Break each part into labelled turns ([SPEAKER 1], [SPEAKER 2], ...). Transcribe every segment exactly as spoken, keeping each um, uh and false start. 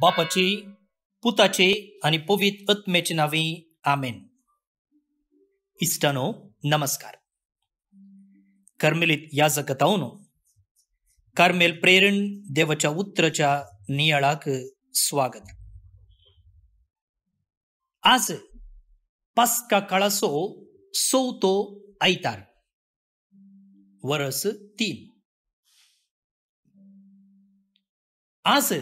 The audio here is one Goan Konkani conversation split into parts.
[SPEAKER 1] बापाचे, पुताचे आनी पवित्र आत्म्याचे नांवे, आमेन. इश्टानो नमस्कार. कार्मेलीत याजकतावन कार्मेल प्रेरण देवाच्या उतराच्या नियाळाक स्वागत. आज पास्का काळाचो चवथो आयतार, वरस तीन. आज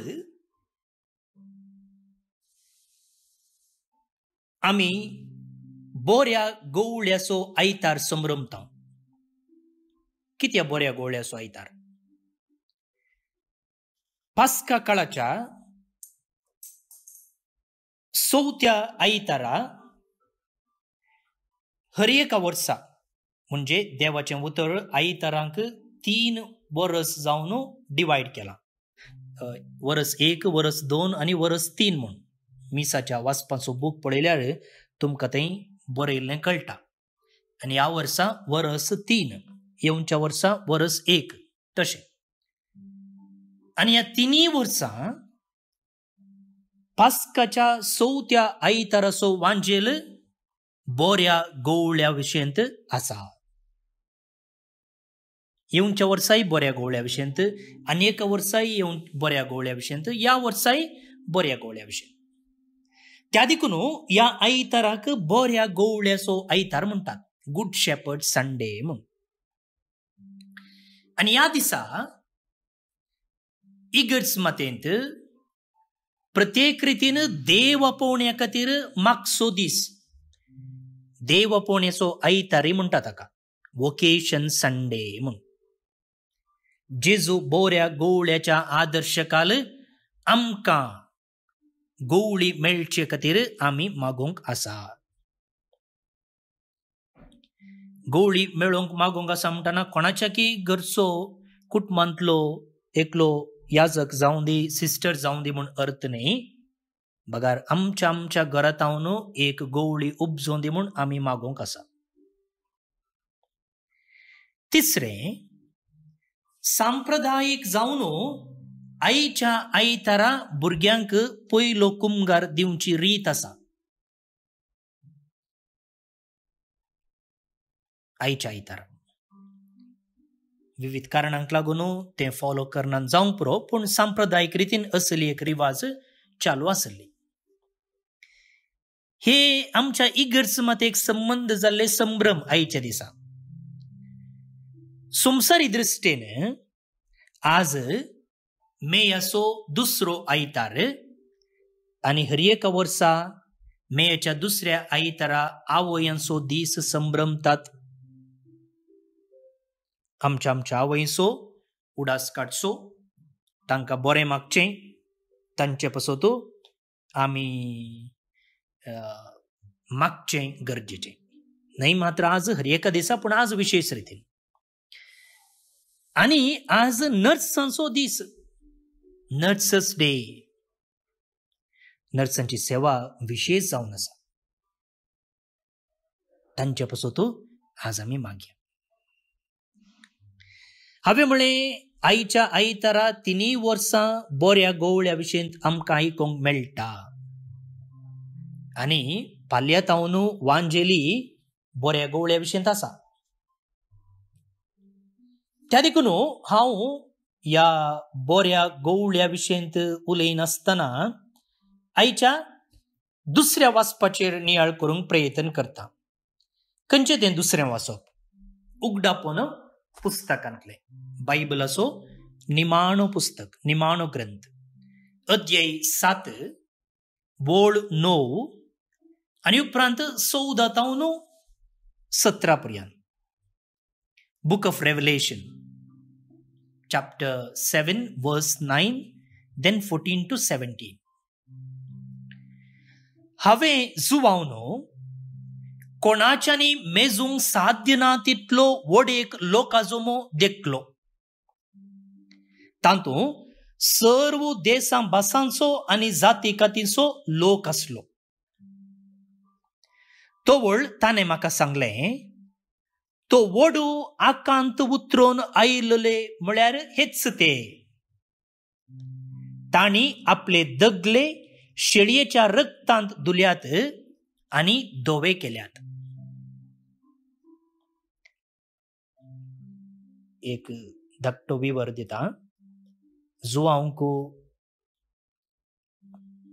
[SPEAKER 1] आमी बोऱ्या गोवळ्याचो आयतार संभ्रमता. कित्या बोऱ्या गोवळ्याचो आयतार? पास्का काळाच्या चवथ्या आयतारा हर एका वर्सा, म्हणजे देवाचें उतर आयतारांक तीन वरस जावन डिवायड केला, वरस एक, वरस दोन आनी वरस तीन म्हूण. मिसाच्या वाचपाचो बूक पळयल्यार तुमकां थंय बरयल्लें कळटा. आनी ह्या वर्सा वरस तीन, येवच्या वर्सा वरस एक, तशें. आनी ह्या तिनूय वर्सां पास्काच्या चवथ्या आयताराचो वांजेल बोऱ्या गोवळ्या विशयंत आसा. येवच्या वर्साय बोऱ्या गोवळ्या विशयंत, आनी एका वर्साय येवन बोऱ्या गोवळ्या विशयंत, ह्या वर्साय बोऱ्या गोवळ्या विशयंत. त्या देखून ह्या आयताराक बोऱ्या गोवळ्याचो आयतार म्हणटात, गुड शेपर्ड संडे म्हूण. आनी ह्या दिसा इगर्ज मातेंत प्रत्येक रितीन देव आपोवण्या खातीर मागचो दीस, देव आपोवण्याचो आयतारय म्हणटा ताका, वोकेशन संडे म्हूण. जेजू बोऱ्या गोवळ्याच्या आदर्शकाल आमकां गोवळी मेळचे खातीर आमी मागूंक आसा. गोवळी मेळोवंक मागूंक आसा म्हणटना कोणाच्या की घरचो कुटुंबांतलो एकलो याजक जावं दी, सिस्टर जावं दी म्हूण अर्थ न्ही, बगार आमच्या आमच्या घरांत एक गोवळी उपजोवन दी म्हूण आमी मागूंक आसा. तिसरें, सांप्रदायीक जावन आईच्या आयतारा भुरग्यांक पयलो कुमगार दिवची रीत आसा. आईच्या आयतारा विविध कारणांक लागून तें फॉलो करना जावंक पुरो, पूण सांप्रदायीक रितीन असली एक रिवाज चालू आसली. हे आमच्या इगर्ज मात एक संबंद जाल्ले संभ्रम आईच्या दिसा. संवसारी दृश्टीन आज मेयाचो दुसरो आयतार आनी हर एका वर्सा मेयाच्या दुसऱ्या आयतारा आवयांचो दीस संभ्रमतात. आमच्या आमच्या आवयचो उडास काडचो, तांकां बरें मागचें, तांचे पासत आमी मागचें गरजेचें न्हय मात्र आज हर एका दिसा, पूण आज विशेश रितीन. आनी आज नर्सांचो दीस, नर्सस डे. नर्सांची सेवा विशेष जावन आसा, तांचे पासत आज आमी मागया. हांवें म्हळें आईच्या आयतारा तिनूय वर्सां बोऱ्या गोवळ्या विशयंत आमकां आयकूंक मेळटा. आनी पालयतावन वांजेली बोऱ्या गोवळ्या विशयंत आसा. त्या देखून हांव ह्या बोऱ्या गोवळ्या विशयंत उलयनासतना आयच्या दुसऱ्या वाचपाचेर नियाळ करूंक प्रयत्न करता. खंयचें तें दुसरें वाचप? उगडापण पुस्तकांतलें, बायबलाचो निमाणो पुस्तक, निमाणो ग्रंथ, अध्याय सात, वोळ णव आनी उपरांत चवदा तावन सतरा पर्यंत. Book of Revelation chapter seven verse nine then fourteen to seventeen. हांवें जुवावनो कोणाच्यानी मेजूंक साध्य ना तितलो व्हड एक लोकाजमो देखलो. तातूंत सर्व देसां भासांचो आनी जाती कातींचो लोक आसलो. तवळ ताणें म्हाका सांगलें, तो वडू आकांत उतरून आयिल्ले म्हळ्यार हेच ते. तांणी आपले दगले शेळयेच्या रक्तांत धुल्यात आनी धवे केल्यात. एक धाकटो विवर दिता. जुवांक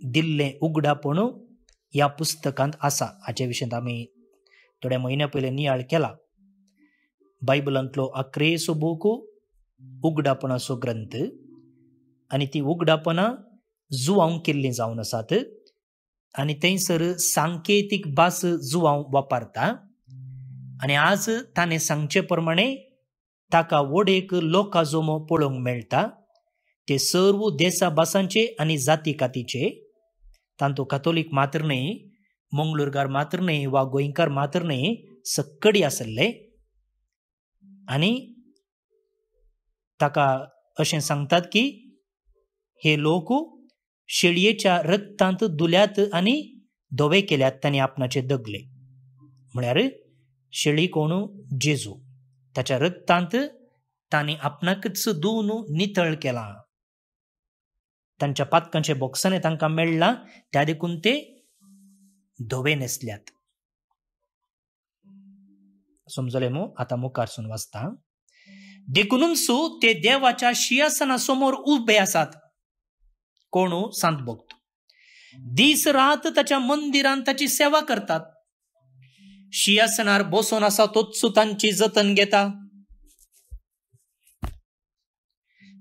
[SPEAKER 1] दिल्लें उगडापण ह्या पुस्तकांत आसा. हाचे विशीं आमी थोड्या म्हयन्या पयलीं नियाळ केला. बायबलांतलो आक्रेसो बूक उगडापणाचो ग्रंथ आनी ती उगडापणां जुवांक केल्लीं जावन आसात आनी थंयसर सांकेतीक भास जुवांव वापरता. आनी आज ताणें सांगचे प्रमाणे ताका वडेक लोकां जमो पळोवंक मेळटा. ते सर्व देसा भासांचे आनी जाती कातीचे. तांतू कातोलीक मात्र न्हय, मंगळूरकार मात्र न्हय वा गोंयकार मात्र न्हय, सक्कडी आसले. आनी ताका अशें सांगतात की हे लोक शेळयेच्या रक्तांत धुल्यात आनी धवे केल्यात तांणी आपणाचे दगले. म्हळ्यार शेळी कोण? जेजू. ताच्या रक्तांत तांणी आपणाकच धुवन नितळ केला. तांच्या पातकांचे बोक्साने तांकां मेळ्ळां, त्या देखून ते धवे न्हेसल्यात. समजले मू? आतां मुखारसून वाचता. देखूनच ते देवाच्या शिंयासना समोर उबे आसात. कोण? सांत भक्त. दीस रात ताच्या मंदिरांत ताची सेवा करतात. शिंयासनार बसून आसा तोच तांची जतन घेता.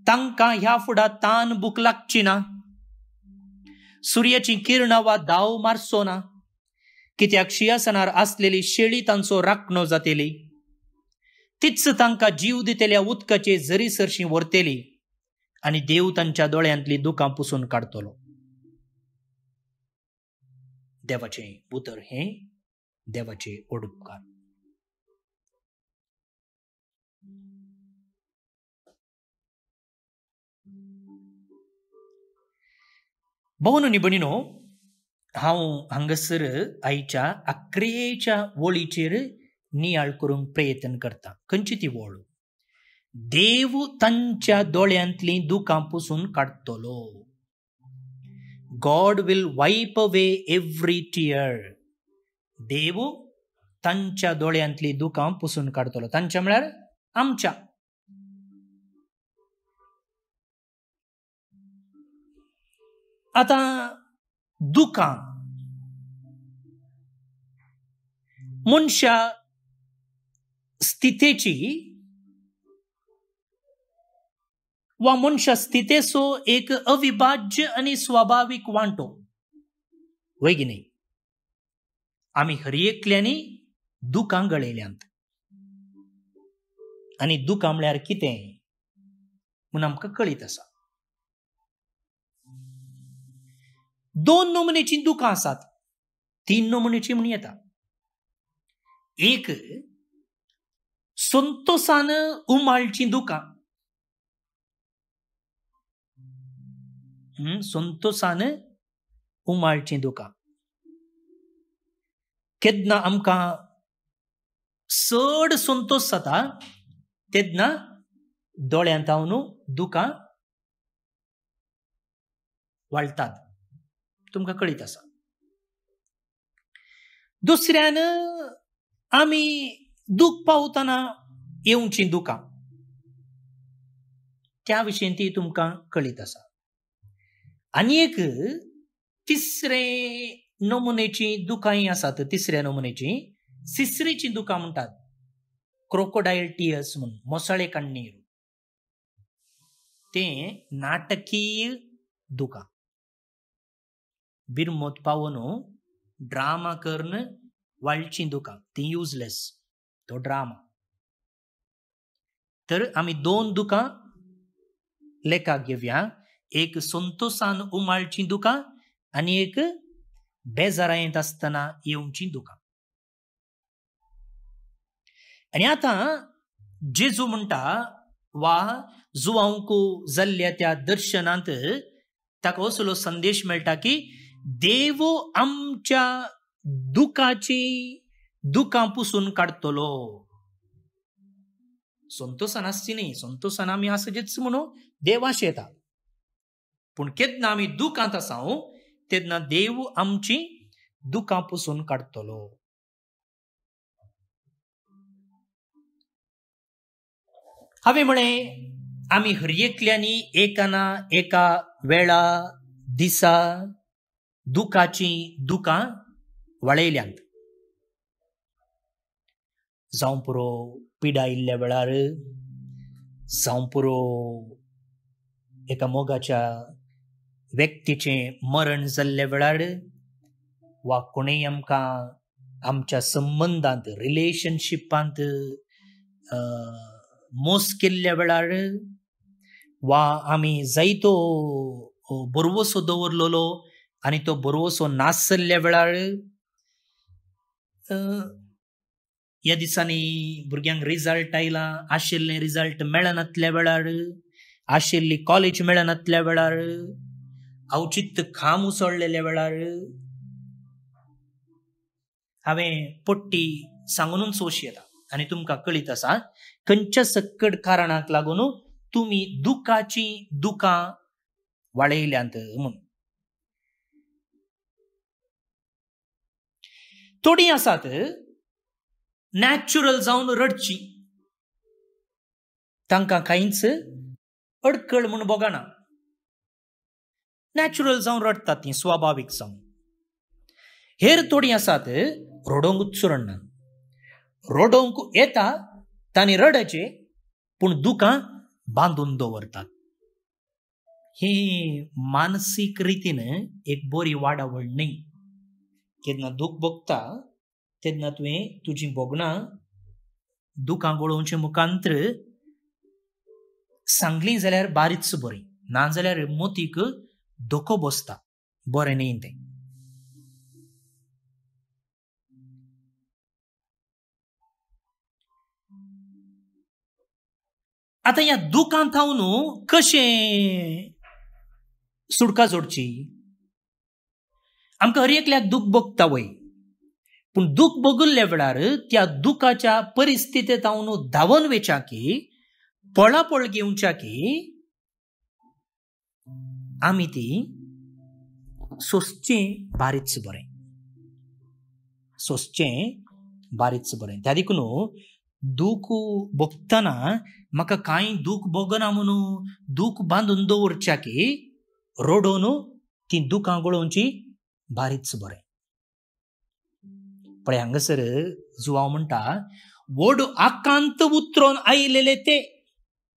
[SPEAKER 1] तांकां ह्या फुडा तान भूक लागची ना, सुर्याची किरणां वा दाव मारचो ना, कित्याक शिंयासनार आसलेली शेळी तांचो राखणो जातली. तीच तांकां जीव दितल्या उदकाचे जरी सरशी व्हरतली आनी देव तांच्या दोळ्यांतली दुकां पुसून काडटलो. देवाचें उतर हें देवाचे ओडुपकार. भोवन आनी भयणीनो, हांव हांगासर आयच्या आक्रेच्या वळीचेर नियाळ करूंक प्रयत्न करता. खंयची ती वळ? देव तांच्या दोळ्यांतलीं दुकां पुसून काडटलो. God will wipe away every tear. देव तांच्या दोळ्यांतलीं दुकां पुसून काडटलो. तांच्या म्हळ्यार आमच्या. आतां दुकां मनशा स्थितेची वा मनशा स्थितेचो एक अविभाज्य आनी स्वाभावीक वांटो, वय की न्ही? आमी हर एकल्यांनी दुकां गळयल्यांत. आनी दुकां म्हळ्यार कितें म्हूण आमकां कळीत आसा. दोन नमुनेचीं दुकां आसात, तीन नमुनेची म्हूण येता. एक संतोसान उमाळचीं दुकां, संतोसान उमाळचीं दुकां. केन्ना आमकां चड संतोष जाता तेन्ना दोळ्यांत हांव दुकां वाळटात, तुमकां कळीत आसा. दुसऱ्यान आमी दूख पावतना येवचीं दुकां, त्या विशीं ती तुमकां कळीत आसा. आनी एक तिसरे नमुनेची दुकांय आसात. तिसऱ्या नमुनेची सिसरीची दुकां म्हणटात, क्रोकोडायल टियर्स म्हूण, मोसळे कण्णीर. तें नाटकीय दुकां. बिरमोत पावोन ड्रामा करून वाळचीं दुकां, ती युजलेस, तो ड्रामा. तर आमी दोन दुकां लेखाक घेवया. एक संतोसान उमाळचीं दुकां आनी एक बेजारायेंत आसतना येवचीं दुकां. आनी आतां जेजू म्हणटा वा जुवांक जाल्ल्या त्या दर्शनांत ताका असलो संदेश मेळटा की देव आमच्या दुखाची दुकां पुसून काडटलो. संतोसान आसची न्ही, संतोसान आमी आसचेच म्हणून देवाश येता, पूण केन्ना आमी दुखांत आसाव तेन्ना देव आमची दुखां पुसून काडटलो. हांवें म्हळें आमी हर एकल्यांनी एका ना एका वेळा दिसा दुखाची दुखां वाळयल्यांत. जावं पुरो पिडा आयिल्ल्या वेळार, जावं पुरो एका मोगाच्या व्यक्तीचें मरण जाल्ल्या वेळार, वा कोणूय आमकां आमच्या संबंदांत रिलेशनशिपांत मोस केल्ल्या वेळार, वा आमी जायतो बरवसो दवरलेलो आनी तो बरवसो नासल्ल्या वेळार. ह्या दिसांनी भुरग्यांक रिजल्ट आयला, आशिल्लें रिजल्ट मेळनातल्या वेळार, आशिल्ली कॉलेज मेळनातल्या वेळार, अवचित खाम उसळलेल्या वेळार. हांवें पट्टी सांगूनच वशी येता आनी तुमकां कळीत आसा खंयच्या सक्कड कारणाक लागून तुमी दुखाची दुखां वाळयल्यांत म्हूण. थोडीं आसात नॅचरल जावन रडची, तांकां कांयच अडकळ म्हूण भोगना, नॅचरल जावन रडटात ती स्वाभावीक जावन. हेर थोडीं आसात रडोवंकूच रडना, रडोवंक येता तांणी रडचे पूण दुखां बांदून दवरतात. ही मानसीक रितीन एक बरी वाडावळ न्हय. केन्ना दूख भोगता तेन्ना तुवें तुजी भोगणां दुखां गळोवचे मुखांत्र सांगली जाल्यार बारीच बरी, नाजाल्यार मोतीक धोको बसता, बरें न्हय तें. आतां ह्या दुखांत थावन कशें सुटका जोडची? आमकां हर एकल्याक दूख भोगता वय, पूण दूख भोगिल्ल्या वेळार त्या दुखाच्या परिस्थितींत थावन धांवन वेच्या की पळापळ घेवच्या की आमी ती सोसचें बारीच बरें, सोसचें बारीच बरें. त्या देखून दूख भोगतना म्हाका कांय दूख भोगना म्हणून दूख बांदून दवरच्या की रडोवन ती दुखां गळोवची बारीच बरें. पळय हांगासर जुवांव म्हणटा व्हड आकांत उतरोन आयिल्ले ते,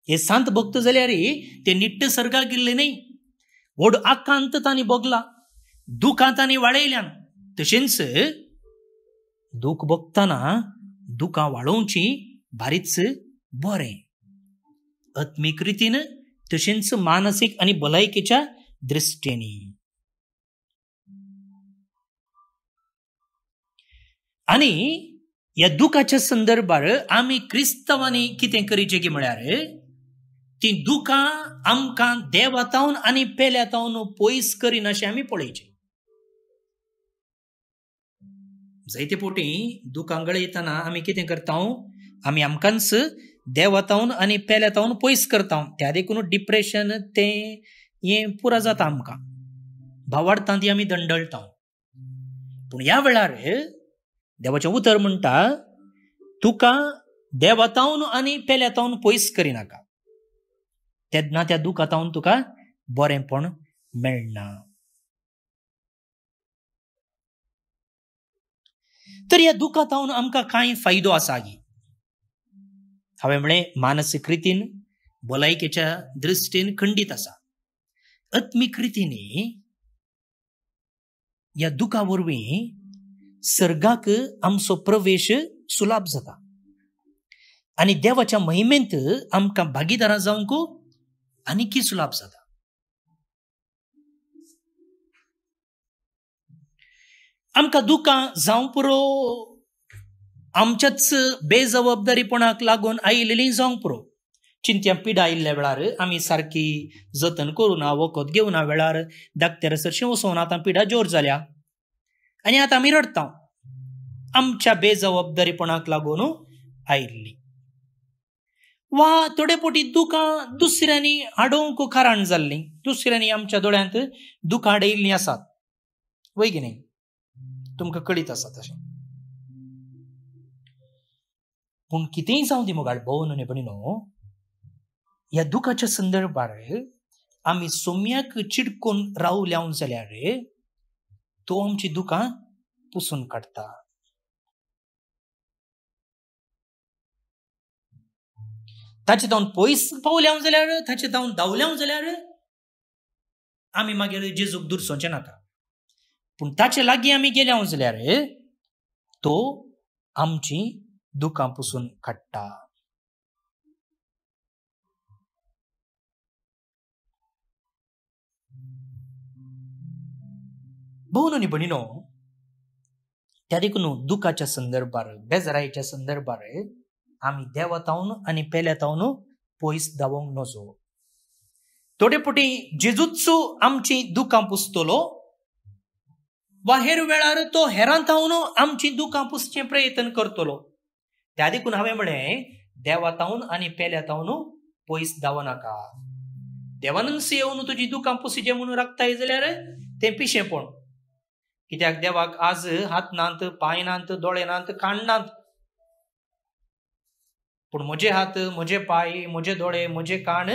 [SPEAKER 1] हे सांत भक्त जाल्यार ते निट्ट सर्गाक गेल्ले न्हय, व्हड आकांत तांणी भोगला, दुखां तांणी वाळयल्यान. तशेंच दूख भोगतना दुखां वाळोवची बारीच बरें, आत्मीक रितीन तशेंच मानसीक आनी भलायकेच्या दृश्टीन. आनी ह्या दुखाच्या संदर्भार आमी क्रिस्तांवांनी कितें करीचें की म्हळ्यार ती दुखां आमकां देवातावन आनी पेल्यातावन पयस करिनाशें आमी पळयचें. जायते पोटी दुखां गळयतना आमी कितें करता, आमी आमकांच देवातावन आनी पेल्यातावन पयस करता. त्या देखून डिप्रेशन तें हें पुरा जाता आमकां, भावार्थान ती आमी दंडळटा. पूण ह्या वेळार देवाचें उतर म्हणटा तुका देवातावन आनी पेल्यातावन पयस करिनाका, तेन्ना त्या दुखातावन तुका बरेंपण मेळना. तर ह्या दुखातावन आमकां कांय फायदो आसा गी? हांवें म्हळें मानसीक रितीन भलायकेच्या दृश्टीन खंडीत आसा. आत्मीक रितीन ह्या दुखा वरवीं सर्गाक आमचो प्रवेश सुलाभ जाता आनी देवाच्या महिमेंत आमकां भागीदारां जावंक आनीकय सुलाभ जाता. आमकां दुखां जावं पुरो आमच्याच बेजबाबदारीपणाक लागून आयिल्लीं जावंक पुरो. चिंत्या पिडा आयिल्ल्या वेळार आमी सारकी जतन करुना, वखद घेवना वेळार डाक्टर सरशीं वचोन आतां पिडा जोर जाल्या आनी आतां आमी रडटा, आमच्या बेजबाबदारीपणाक लागून आयिल्ली. वा थोडे पोटी दुकां दुसऱ्यांनी हाडोवंक कारण जाल्लीं, दुसऱ्यांनी आमच्या दोळ्यांत दुकां हाडयिल्लीं आसात, वय की न्ही? तुमकां कळीत आसा तशें. पूण कितेंय जावं दी मोगाळ भोवन न्ही भयणीनो, ह्या दुखाच्या संदर्भार आमी सोम्याक चिडकून रावल्या जाल्यार तो आमची दुकां पुसून काडटा. ताचे धांवन पयस पावल्या जाल्यार, ताचे धांवन धांवल्या जाल्यार आमी मागीर जेजूक दुरसोवचें नाका. पूण ताचे लागीं आमी गेल्या जाल्यार तो आमची दुकां पुसून काडटा. भोवन आनी भयणीनो, त्या देखून दुखाच्या संदर्भार, बेजारायेच्या संदर्भार आमी देवा तावन आनी पेल्या तावन पयस धांवंक नजो. थोडे फावटी जेजूच आमची दुकां पुसतलो वा हेर वेळार तो हेरां तावन आमची दुकां पुसचें प्रयत्न करतलो. त्या देखून हांवें म्हळें, देवा तावन आनी पेल्या तावन पयस धांवनाका. देवानूच येवन तुजी दुकां पुसचें म्हणून राखताय जाल्यार तें पिशेंपण. कित्याक देवाक आज हात नात, पांय नात, दोळे नात, कान नात, पूण म्हजे हात, म्हजे पांय, म्हजे दोळे, म्हजे कान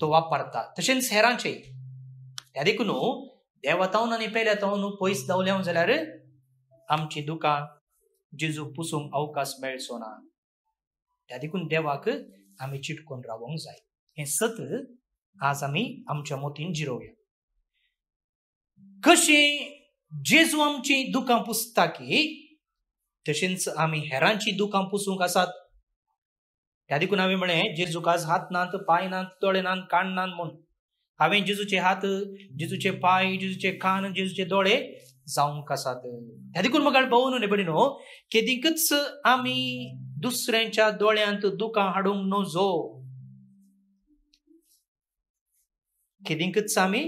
[SPEAKER 1] तो वापरता, तशेंच हेरांचे. त्या देखून देवा तावन आनी पेल्या तावन पयस धांवल्या जाल्यार आमची दुकां जेजू पुसूंक अवकाश मेळचो ना. त्या देखून देवाक आमी चिटकून रावोंक जाय. हें सत आज आमी आमच्या मोतीन जिरोवया. कशें जेजू आमची दुकां पुसता की तशेंच आमी हेरांची दुकां पुसूंक आसात. त्या देखून हांवें म्हळें, जेजूक आज हात नात, पांय नात, दोळे नात, कान नात म्हूण हांवें जेजूचे हात, जेजूचे पांय, जेजूचे कान, जेजूचे दोळे जावंक आसात. त्या देखून म्हाका भोवन न्ही भयणीनो, केदीकच आमी दुसऱ्यांच्या दोळ्यांत दुकां हाडूंक नजो. केदीकच आमी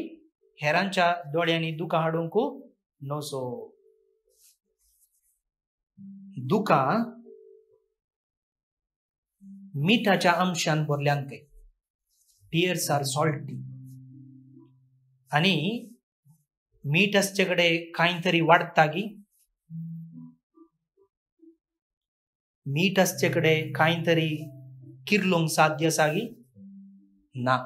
[SPEAKER 1] हेरांच्या दोळ्यांनी दुकां हाडूंक नजो. दुकां मिठाच्या अंशान भरल्यान ते, टियर्स आर सॉल्टी. आनी मीठ आसचे कडेन कांय तरी वाडटा की, मीठ आसचे कडेन कांय तरी किर्लोंक साध्य आसा की ना.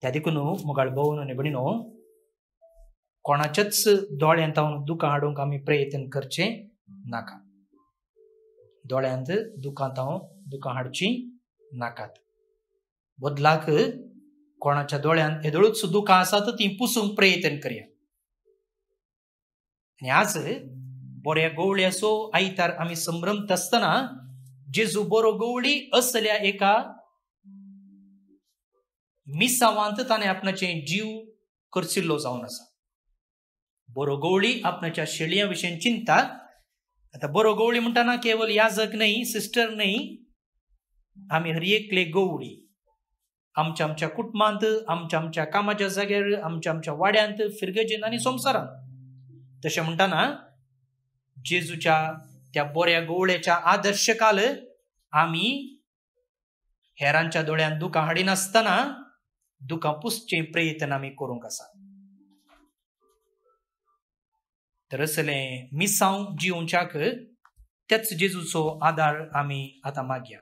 [SPEAKER 1] त्या देखून मोगाळ भोवन आनी भयणीनो, कोणाच्याच दोळ्यांत हांव दुकां हाडूंक आमी प्रयत्न करचें नाका. दोळ्यांत दुकां हांव दुकां हाडचीं नाकात. बदलाक कोणाच्या दोळ्यांत येदोळूच दुकां आसात तीं पुसूंक प्रयत्न करया. आनी आज बऱ्या गवळ्याचो आयतार आमी संभ्रमत आसतना जेजू बरो गवळी असल्या एका मिसावांत ताणें आपणाचे जीव खर्चिल्लो जावन आसा. बरो गवळी आपणाच्या शेळयां विशीं चिंता. आतां बरो गवळी म्हणटाना केवल याजक न्हय, सिस्टर न्हय, आमी हर एकले गवळी आमच्या आमच्या कुटुंबांत, आमच्या आमच्या कामाच्या जाग्यार, आमच्या आमच्या वाड्यांत, फिरगजेन आनी संवसारांत. तशें म्हणटाना जेजूच्या त्या बऱ्या गवळ्याच्या आदर्श काल आमी हेरांच्या दोळ्यांत दुकां हाडिनासतना दुकां पुसचें प्रयत्न आमी करूंक आसा. तर असलें मिसांव जिवोवच्याक त्याच जेजूचो आदार आमी आतां मागया.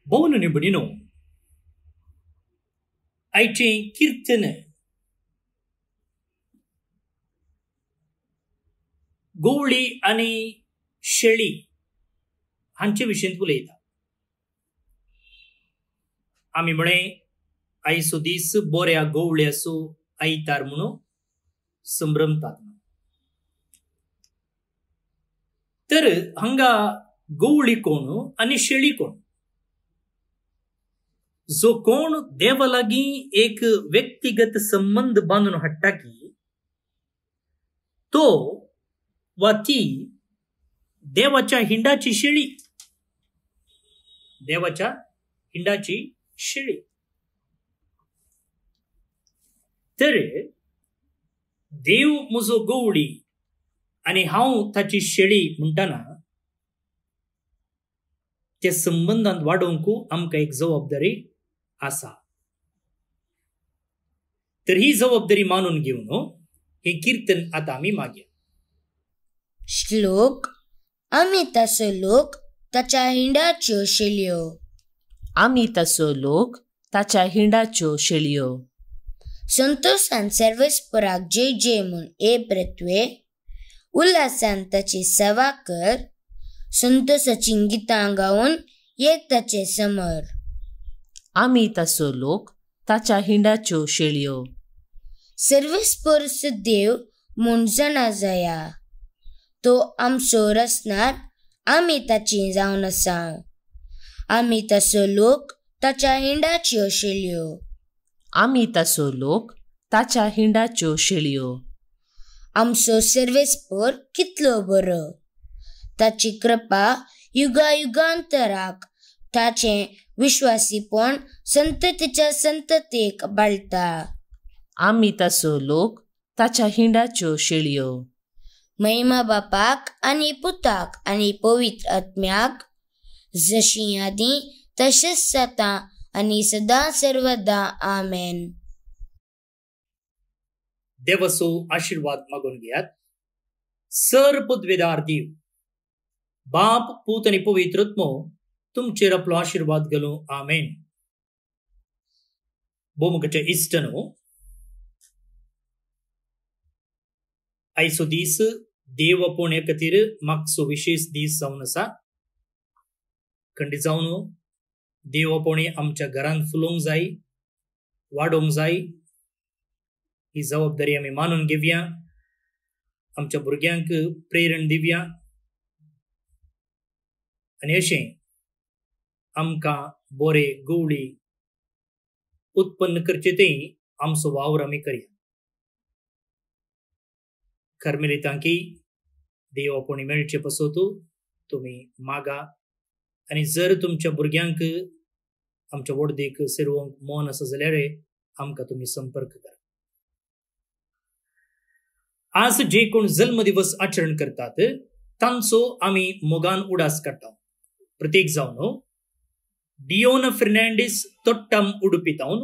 [SPEAKER 1] भोवन न्ही भयणीनो, आयचें किर्तन गवळी आनी शेळी हांचे विशीं उलयता. आमी म्हळें आयचो दीस बऱ्या गवळ्याचो आयतार म्हणून संभ्रमतात. तर हांगा गवळी कोण आनी शेळी कोण? जो कोण देवा लागीं एक व्यक्तिगत संबंद बांदून हाडटा की तो वा ती देवाच्या हिंडाची शेळी, देवाच्या हिंडाची शेळी. तर देव म्हजो गवळी आनी हांव ताची शेळी म्हणटना त्या संबंदांत वाडोवंक आमकां एक जबाबदारी आसा. तर ही जबाबदारी मानून घेवन हें किर्तन आतां आमी मागया.
[SPEAKER 2] श्लोक. आमी तसो लोक ताच्या हिंडाच्यो शेळयो.
[SPEAKER 3] आमी तसो लोक ताच्या हिंडाच्यो शेळयो.
[SPEAKER 2] संतोषान सर्वेस्पराक जय जय म्हूण ए पृथ्वे, उल्हासान ताची सेवा कर, संतोषाची गितां गावन एक ताचे समर.
[SPEAKER 3] आमी तसो लोक ताच्या हिंडाच्यो शेळयो.
[SPEAKER 2] सर्वेस्पर देव म्हूण जाणा जाया, तो आमचो रचणार, आमी ताची जावन आसा. आमी तसो लोक ताच्या हिंडाच्यो शेळयो.
[SPEAKER 3] आमी तसो लोक ताच्या हिंडाच्यो शेळयो.
[SPEAKER 2] आमचो सर्वेस्पर कितलो बरो, ताची कृपा युगायुगांतराक, ताचें विश्वासीपण संततीच्या संततीक बाळटा.
[SPEAKER 3] आमी तसो लोक ताच्या हिंडाच्यो शेळयो.
[SPEAKER 2] महिमा बापाक आनी पुताक आनी पवित्र आत्म्याक, जशी आदीं तशेंच जाता आनी सदां सर्वदा. आमेन.
[SPEAKER 1] देवाचो आशिर्वाद मागून घेयात. सर पदवेदार देव बाप पूत आनी पवित्र आत्मो तुमचेर आपलो आशिर्वाद घालूं. आमेन. भोवमुखाचे इश्टनो, आयचो दीस देव आपोवण्या खातीर मागचो विशेष दीस जावन आसा. खंडीत जावन देव आपोवणें आमच्या घरांत फुलोवंक जाय, वाडोवंक जाय. ही जबाबदारी आमी मानून घेवया. आमच्या भुरग्यांक प्रेरण दिवया आनी अशें आमकां बरे गवळी उत्पन्न करचे ते आमचो वावर आमी करया. कर्मेलितांकी देव आपोवणें मेळचे पासत तुमी मागा आनी जर तुमच्या भुरग्यांक आमच्या वडदेक सेरोवंक मन आसा जाल्यार आमकां तुमी संपर्क करा. आज जे कोण जल्मदिवस आचरण करतात तांचो आमी मोगान उडास काडटा. प्रत्येक जावन डियोन फेर्नांडीस तोट्टम उडुपी तावन,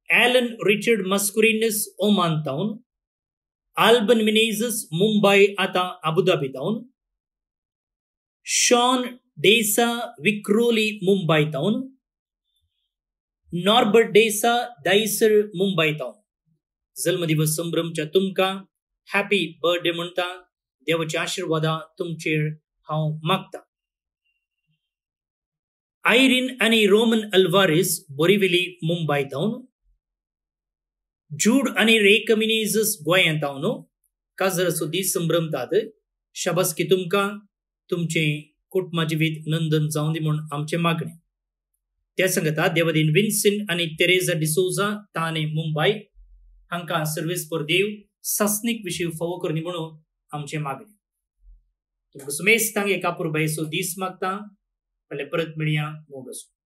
[SPEAKER 1] ॲलन रिचर्ड मस्कुरिनस ओमान तावन, आल्बन मिनेझस मुंबय आतां अबुधाबी तावन, शॉन डेसा विक्रोली मुंबय तावन, नॉर्बर्ट डेसा दायसर मुंबय तावन. जल्मदिवस संभ्रमच्या तुमकां हॅपी बर्थडे म्हणटा. देवाच्या आशिर्वादा तुमचेर हांव मागता. आयरीन आनी रोमन अल्वारिस बोरिविली मुंबय तावन, जूड आनी रेका मिनेझस गोंयांत तावन काजराचो दीस संभ्रमतात. शाबासकी तुमकां, तुमचें कुटुंबा जिवीत नंदन जावं दी म्हूण आमचें मागणें. त्या सांगता देवादीन विन्सन आनी तेरेजा डिसोजा ताणे मुंबय हांकां सर्वेस्पर देव सासणीक विशीं फावो करनी म्हणून आमचें मागणें. तुमकां सुमेस्तांक एका पुरबायेचो दीस मागता. फाल्यां परत मेळया. मोग आसूं.